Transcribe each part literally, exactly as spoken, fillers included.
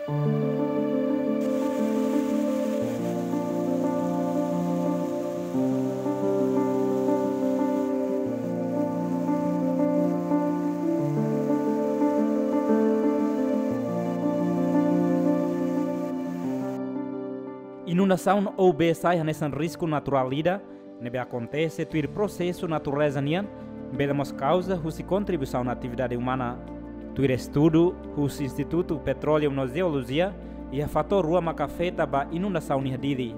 Inundasaun ou bee sai hanesan risku naturál ida ne'ebé akontese tuir prosesu natureza nian, bele mós kauza husi kontribuisaun atividade umana. Tuir estudu husi Institutu Petróleu no Jeolojia, iha fatór rua maka afeta ba inundasaun iha Dili.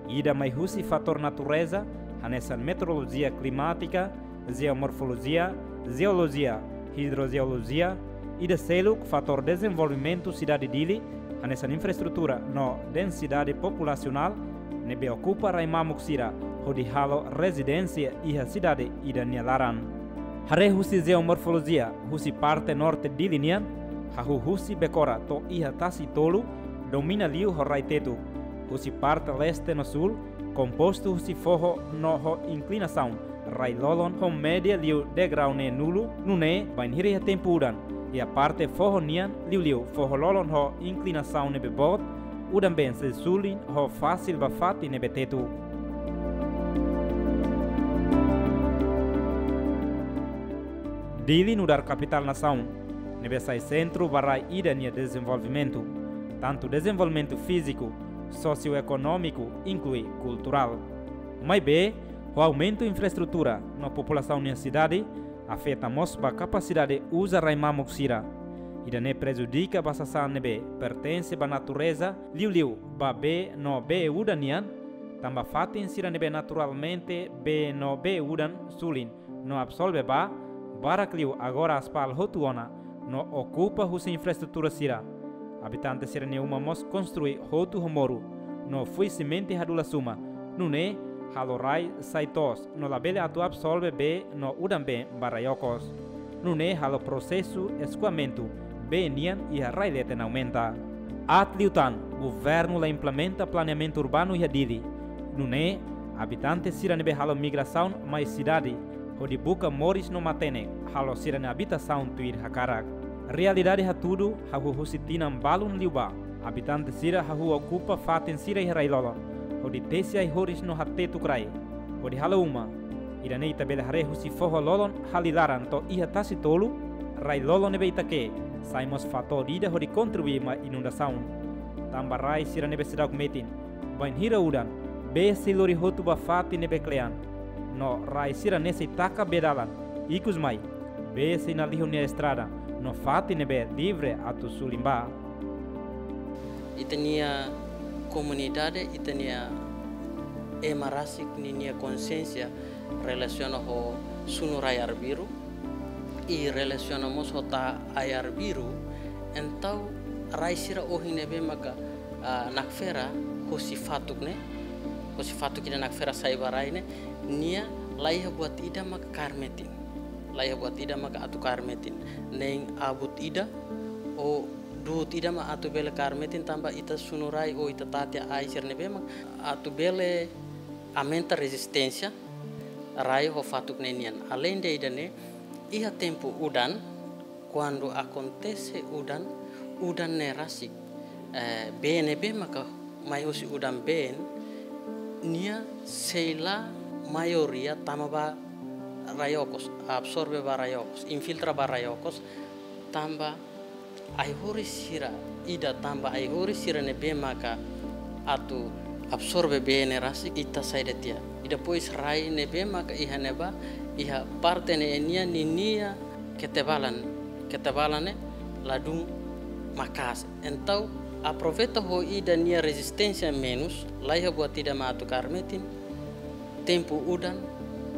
Ida mai husi fatór natureza, hanesan meteorolojia klimátika, jeomorfolojia, jeolojia, hidrojeolojia, ida seluk fatór dezenvolvimentu sidade Dili, hanesan infraestrutura no densidade populasionál, ne'ebé okupa rai mamuk sira hodi halo rezidénsia iha sidade ida nia laran. Haree husi jeomorfolojia, husi parte norte Dili nian, hahú husi Bekora to'o iha Tasi Tolu, domina liu ho rai tetuk. Husi parte leste no súl, kompostu husi foho no ho inklinasaun rai-lolon ho média liu degrau neen-nulu, nune'e bainhira iha tempu udan, iha parte foho nian liuliu foho-lolon ho inklinasaun ne'ebé boot, udan-been sei sulin ho fasil ba fatin ne'ebé tetuk. Dili nu'udar kapitál nasaun, ne'ebé sai sentru ba rai ida nia dezenvolvimentu, tantu dezenvolvimentu fíziku, sosioekonómiku, inklui kulturál. Maibé, ho aumentu infraestrutura no populasaun iha sidade, afeta mós ba kapasidade uza rai mamuk sira. Ida-ne'e prejudika ba sasán ne'ebé pertense ba natureza, liuliu ba bee no bee udan nian, tanba fatin sira ne'ebé naturalmente bee no bee udan sulin no absorve ba, barak liu agora aspal hotu ona no okupa husi infraestrutura sira. Abitante sira-nia uma mós konstrui hotu ho moru no fui simente hadulas uma, nune'e halo rai sai toos no labele atu absorve bee no udan-been ba rai okos. Nune'e halo prosesu eskoamentu bee nian iha rai leten aumenta. Aat liután, governu la implementa planeamentu urbanu iha Dili. Nune'e, abitante sira ne'ebé halo migrasaun mai sidade hodi buka moris no matenek halo sira-nia abitasaun tuir hakarak. Realidade hatudu, hahú husi tinan balun liubá, abitante sira hahú okupa fatin sira iha rai-lolon hodi tesi ai-horis no hatetuk rai hodi halo uma. Ida-ne'e ita bele haree husi foho-lolon Halilaran to'o iha Tasi Tolu, rai-lolon ne'ebé ita ke'e, sai mós fatór ida hodi kontribui mai inundasaun. Tanba rai sira ne'ebé seidauk metin, bainhira udan, bee sei lori hotu ba fatin ne'ebé kle'an. No rai sira-ne'e sei taka bee dalan, ikusmai, bee sei nalihun nia estrada, no fatin ne'ebé livre atu sulin ba. Ita-nia komunidade, ita-nia ema rasik ninia konsiénsia relasiona ho sunu rai arbiru, i relasiona mós ho ta'a ai arbiru, entaun rai sira ohin ne'ebé maka, ah, nakfera husi fatuk ne'e, husi fatuk ida nakfera sai ba rai ne'e, nia laiha buat ida maka kaer metin. Laiha buat ida maka atu kaer metin. Nein abut ida, ou du'ut ida mak atu bele kaer metin tanba ita sunu rai ou ita tati ai sira ne'ebé mak atu bele aumenta rezisténsia rai ho fatuk ne'e nian. Aleinde ida-ne'e, iha tempu udan, kuandu akontese udan, udan ne'e rasik, eh, bee ne'ebé maka mai husi udan-been, nia sei la maioria tama ba rai okos, absorve ba rai okos, infiltra ba rai okos, tanba ai-horis sira ida tanba ai-horis sira ne'ebé maka atu absorve bee ne'e rasik ita saida tiha. I depois rai ne'ebé maka iha ne'ebá, iha parte ne'e nian ninia ketebalan, ketebalan ne'e ladún maka'as. Entaun aproveita ho ida nia rezisténsia menus, laiha buat ida mak atu kaer metin, tempu udan,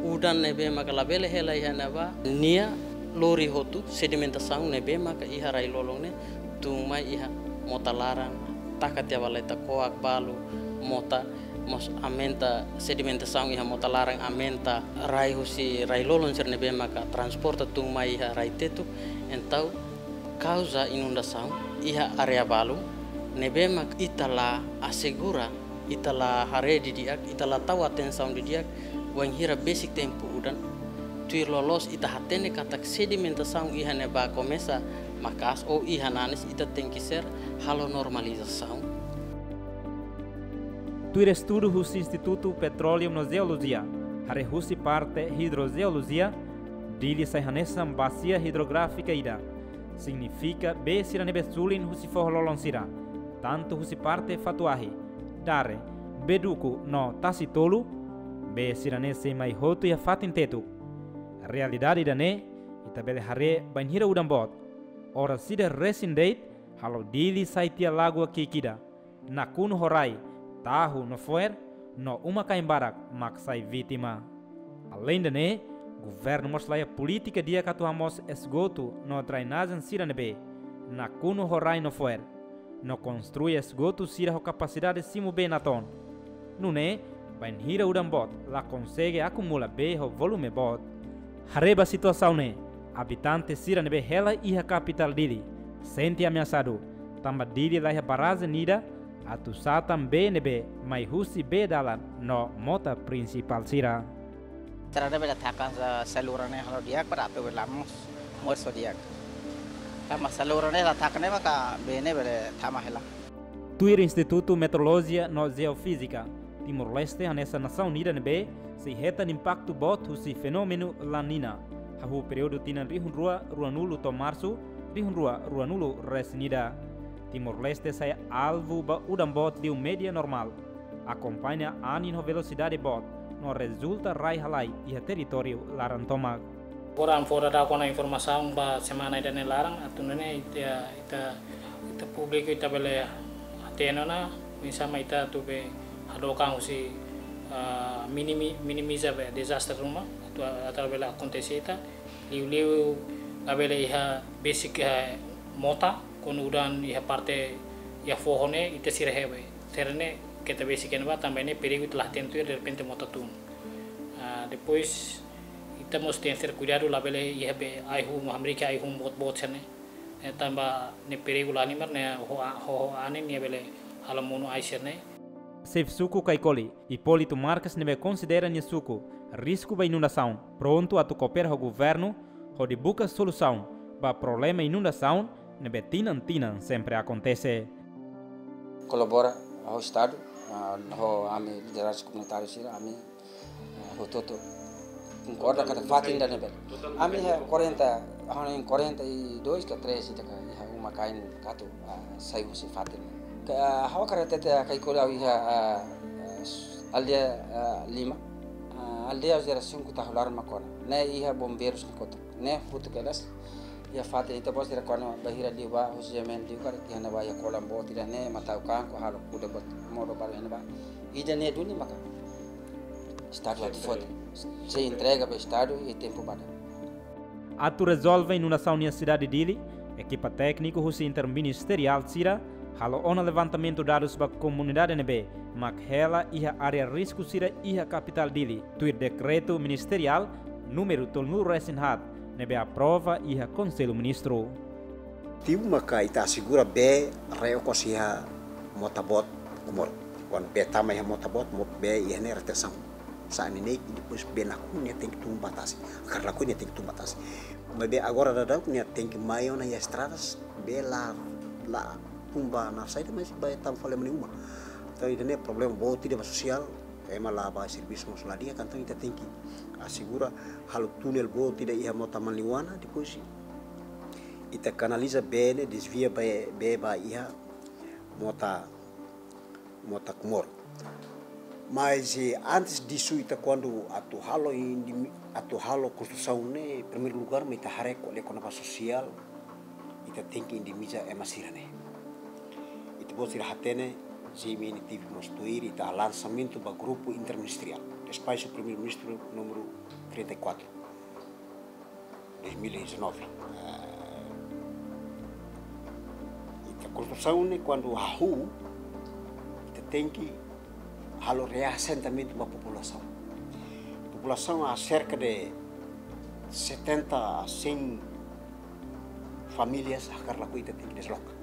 udan ne'ebé maka labele hela iha ne'ebá, nia lori hotu sedimentasaun ne'ebé maka iha rai-lolon ne'e, tun mai iha mota laran, taka tiha ba leta koak balu, mota mós aumenta sedimentasaun iha mota laran, aumenta rai husi rai-lolon sira ne'ebé maka transporta tun mai iha rai tetuk, entaun kauza inundasaun iha área balu, ne'ebé maka ita la asegura, ita la haree didi'ak, ita la tau atensaun didi'ak, wainhira besik tempu udan, tuir loloos ita hatene katak sedimentasaun iha ne'ebá komesa Maka'as ou iha nanis ita tenke ser halo normalizasaun. Tuir estudu husi Institutu Petróleu no Jeolojia, haree husi parte hidrojeolojia, Dili sai hanesan basia hidrográfika ida. Signifika bee sira ne'ebé sulin husi foho lolon sira, tantu husi parte Fatuahi, Dare, Beduku no Tasi Tolu, bee sira-ne'e sei mai hotu iha fatin tetuk. Realidade ida-ne'e ita bele haree bainhira udan boot. Oras ida resin de'it, halo Dili sai tiha lagoa ki'ik ida. Nakonu ho rai, tahu no fo'er, no uma-kain barak mak sai vítima. Aleinde ne'e, governu mós laiha polítika di'ak atu hamoos esgotu no drenajen sira ne'ebé nakonu ho rai no fo'er, no konstrui esgotu sira ho kapasidade simu bee natoon. Nune'e, bainhira udan boot la konsege akumula bee ho volume boot. Haree ba situasaun ne'e, abitante sira ne'ebé hela iha kapitál Dili sente ameasadu, tanba Dili laiha barrajen ida atu satan bee ne'ebé mai husi bee dalan no mota prinsipál sira. Sira ne'e bele taka sa-, saluran ne'e halo di'ak para atu bele moos, moos ho di'ak. Tanba saluran ne'e la taka ne'e maka bee ne'e bele tama hela. Tuir Institutu Meteorolojia no Jeofízika, Timor-Leste hanesan nasaun ida ne'ebé sei hetan impaktu boot husi fenómenu La Niña, hahú períodu tinan rihun rua ruanulu to'o Marsu rihun rua ruanulu resin ida. Timor-Leste sai alvu ba udan boot liu média normál, akompaña anin ho velosidade boot, no rezulta rai-halai iha territóriu laran tomak. Agora ami fó daudaun kona informasaun ba semana ida-ne'e laran, atu nune'e ita, ita, ita públiku ita bele hatene ona, oinsá mak ita atu bele hadook an husi, ah, minimi-, minimiza bee dezastre ruma atu, atu bele akontese ita. Liuliu labele iha besik, eh, mota, kuandu udan iha parte iha foho ne'e, ita sira hebe. Sira ne'e keta besik iha ne'ebá, tanba ne'e perigu ita la hatene tuir, derrepente mota tun. Ah, depois, ita mós tenke ser kuidadu labele iha bee ai-hun, hamriik ai-hun boot-boot sira-ne'e. Eh, tanba ne'e perigu la halimar ne'e ho a-, ho, ho anin ne'e bele halo monu ai sira-ne'e. Xefe suku Caicoli, Hipólito Marques ne'ebé konsidera nia suku risku ba inundasaun, prontu atu koopera ho governu, hodi buka solusaun ba problema inundasaun ne'ebé tinan-tinan sempre akontese. Kolabora ho Estadu, ah, ho ami lideransa komunitáriu sira, ami, ah, hotu-hotu konkorda katak fatin ida-ne'e bele. Ami iha quarenta, hahú na'in quarenta e dois ka três ita ka iha uma-kain katu, ah, sai husi fatin. Ka, ah, ha'u hakarak hatete Caicoli ha'u iha, ah, ah, aldeia, ah, lima. Ah, aldeia zera sungku tahu laran mak kona. Ne'e iha bombeirus nia kotuk. Ne'e futu kedas. Iha fatin ita bos ida kona bainhira liu ba, husi jamen liu karik iha ne'ebá iha kolam boot ida-ne'e, matau kanku halo kuda boot modo balu iha ne'ebá. Ida-ne'e duni maka Estadu atu foti. Sei entrega ba Estadu iha tempu badak. Atu rezolve inundasaun iha sidade Dili, ekipa tékniku husi interministeriál sira halo ona levantamentu dadus ba komunidade ne'ebé mak hela iha área risku sira iha kapitál Dili, tuir dekretu ministeriál númeru tolunulu resin haat ne'ebé aprova iha Konsellu Ministru. Tibu maka ita asegura bee rai okos iha mota boot Comoro. Kuandu bee tama iha mota boot, mo-, bee iha ne'e retensaun. Sa'e neineik, depois bee nakonu nia tenke tun ba tasi. Hakarak lakon nia tenke tun ba tasi. Maibé agora daudaun nia tenke mai ona iha estradas, bee la, la tun ba naran saida, mas bee tama fali mai uma. Entaun, ida-ne'e problema boot ida ba sosiál, ema la bá servisu mós la di'ak, entaun ita tenke asegura halo túnel boot ida iha mota Manliwana, depois ita kanaliza bee ne'e, dezvia bee, bee ba iha mota, mota Comoro. Mas, eh, antes disso, ita kuandu atu halo indimi-, atu halo konstrusaun ne'e, primeiru lugar, mak ita haree ko'alia kona-ba sosiál, ita tenke indemniza ema sira-ne'e. Ita-boot sira hatene, G M N tive mós tuir, ita lansamentu ba grupu interministeriál, despaxu Primeiru-Ministru númeru trinta e quatro, dois mil e dezanove. Eh, ita konstrusaun ne'e kuandu hahú, ita tenke halo reasentamentu ba populasaun. Populasaun aserka de setenta a cem famílias hakarak lakon ita tenke desloka.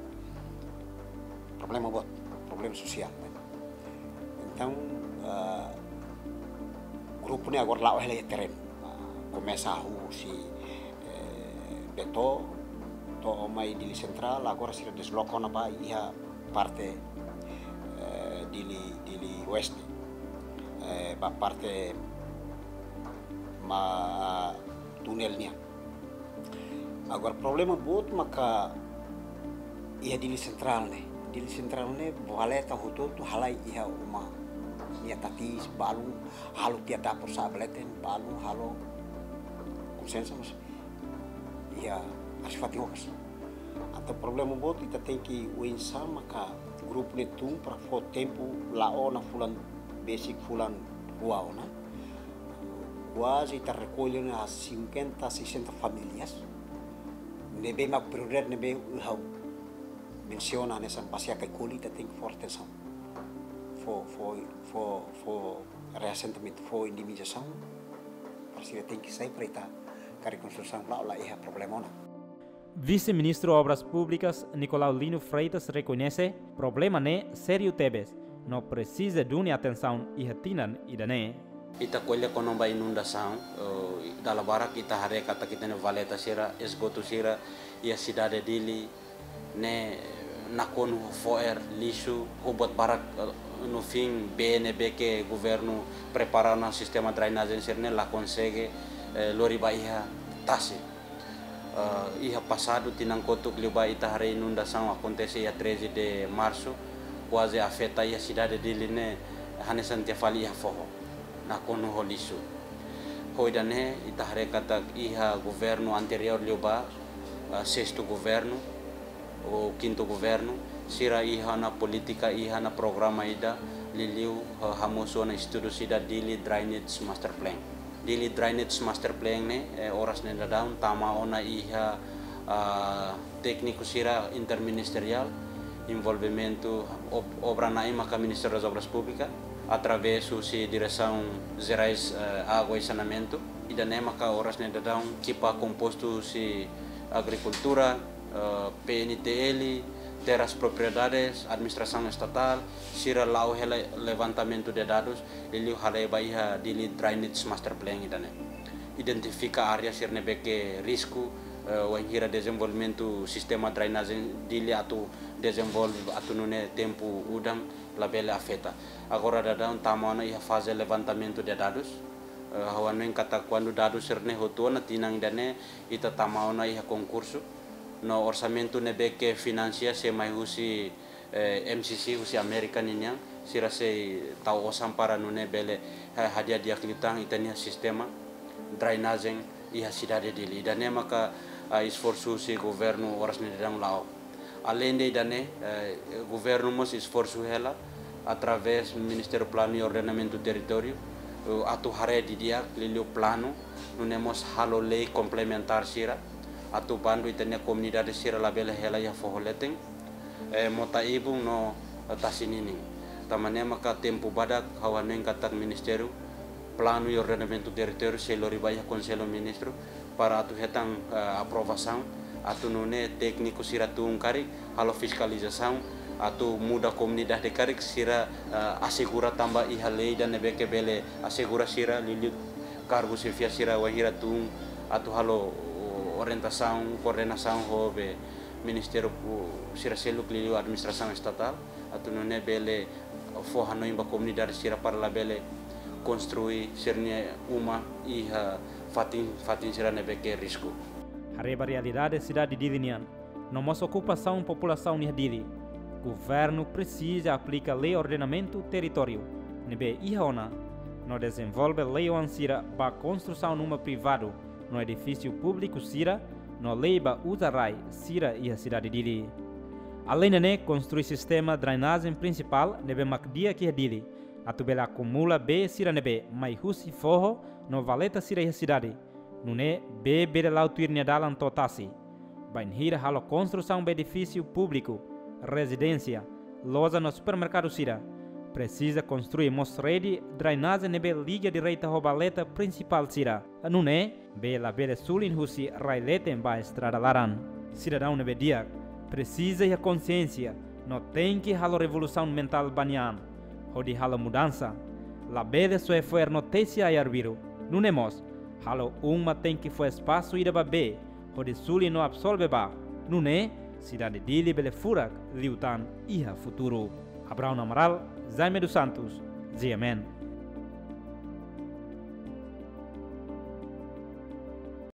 Problema boot, problema sosiál. Entaun, ah, grupu ne'e agora la'o hela iha terrenu. Ah, komesa hahú husi, eh, Beto, To'o mai Dili Sentrál, agora sira desloka ona ba iha parte, eh, Dili, Dili Oeste. Eh, ba parte mak tunel nian. Agora problema boot maka iha Dili Sentrál ne'e. Dili Sentrál ne'e valeta hotu-hotu halai iha uma nia tatis, balun halo tiha dapur sa'e ba leten, balun halo konsensa mas iha asfaltu hokas. Entaun problema boot ita tenke oinsá maka grupu ne'e tun para fó tempu la'o ona fulan besik fulan rua ona. Kuaze ita rekolle ona cinquenta, sessenta famílias. Ne'ebé mak prioridade ne'ebé ha'u mensiona hanesan Basia Kaikoli ita tenke fó atensaun. Fó, fó, fó, fó reasentamentu, fó indemnizasaun. Para sira tenke sai para ita karik konstrusaun la'o la iha problema ona. Vise-Ministru Obras Públikas, Nicolau Lino Freitas, rekoñese problema ne'e sériu tebes, no presiza duni atensaun iha tinan ida-ne'e. Ita ko'alia kona-ba inundasaun, eh, dala barak ita haree katak ita-nia valeta sira, esgotu sira, iha sidade Dili, ne'e nakonu ho fo'er, lixu, ho buat barak, eh, no fim, bee ne'ebé ke governu prepara ona sistema drenajen sira-ne'e la konsege, eh, lori ba iha tasi. Eh, iha pasadu tinan kotuk liubá ita haree inundasaun akontese iha treze de Março, kuaze afeta iha sidade Dili ne'e hanesan tiha fali iha foho. Nakonu ho lixu. Ho ida-ne'e ita haree katak iha governu anteriór liubá, eh, sestu governu, ou kintu governu, sira iha ona polítika, iha ona programa ida, liuliu, eh, hamosu ona estudu sira Dili Drainage Master Plan. Dili Drainage Master Plan ne'e, eh, oras ne'e daudaun tama ona iha, ah, tékniku sira interministeriál, envolvimentu ob-, obra na'in maka Ministério das Obras Públicas, através husi Diresaun Jerais, eh, Água e Saneamentu. Ida-ne'e maka oras ne'e daudaun ekipa kompostu husi agrikultura, eh, P N T L, terras propriedades, administrasaun estatál, sira la'o hela levantamentu de dadus, liuliu halai ba iha Dili Drainage Master Plan ida-ne'e. Identifika área sira ne'ebé ke risku, eh, wainhira dezenvolvimentu sistema drenajen Dili atu dezenvolve atu nune'e tempu udan labele afeta. Agora daudaun tama ona iha faze levantamentu de dadus. Eh, ha'u hanoin katak kuandu dadus sira-ne'e hotu ona tinan ida-ne'e ita tama ona iha konkursu. No orsamentu ne'ebé ke finansia sei mai husi, eh, M C C husi Amérika ninian, sira sei tau osan para nune'e bele, eh, hadi'a di'ak liután ita-nia sistema drenajen iha sidade Dili. Ida-ne'e maka, ah, esforsu husi governu oras ne'e daudaun la'o. Aleinde ida-ne'e, eh, governu mós esforsu hela através Ministériu Planu e Ordenamentu Territóriu, eh, atu haree didi'ak liuliu planu, nune'e mós halo lei komplementár sira, atu bandu ita-nia komunidade sira labele hela iha foho leten, eh, mota ibun no, eh, tasi ninin. Tanba ne'e maka tempu badak ha'u hanoin katak Ministériu Planu e Ordenamentu Territóriu sei lori ba iha Konsellu Ministru para atu hetan, eh, aprovasaun, atu nune'e tékniku sira tun karik halo fiskalizasaun, atu muda komunidade karik sira, eh, asegura tanba iha lei ida ne'ebé ke bele asegura sira liuliu kargu xefia sira wainhira tun atu halo orientasaun, koordenasaun ho be ministériu, uh, sira seluk liuliu administrasaun estatál, atu nune'e bele fó hanoin ba komunidade sira para labele konstrui sira-nia uma iha fatin, fatin sira ne'ebé ke risku. Haree ba realidade sidade Dili nian, no mós okupasaun populasaun iha Dili, governu presiza aplika lei ordenamentu territóriu ne'ebé iha ona, no dezenvolve lei-oan sira ba konstrusaun uma privadu no edifísiu públiku sira, no lei ba uza rai sira iha sidade Dili. Aleinde ne'e, konstrui sistema drenajen prinsipál ne'ebé mak di'ak iha Dili, atu bele akumula bee sira ne'ebé mai husi foho no valeta sira iha sidade. Nune'e bee bele la'o tuir nia dalan to'o tasi. Bainhira halo konstrusaun ba edifísiu públiku, rezidénsia, loja no supermerkadu sira, presiza konstrui mós rede drenajen ne'ebé liga direta ho valeta prinsipál sira. Nune'e bee labele sulin husi rai leten ba estrada laran. Sidadaun ne'ebé di'ak presiza iha konsiénsia no tenke halo revolusaun mentál ba nia an, hodi halo mudansa. Labele soe fo'er no tesi ai arbiru. Nune'e mós, halo uma tenke fó espasu ida ba bee, hodi sulin no absorve ba, Nune'e, sidade Dili bele furak liután iha futuru. Abraão Amaral, Jaime dos Santos, G M N.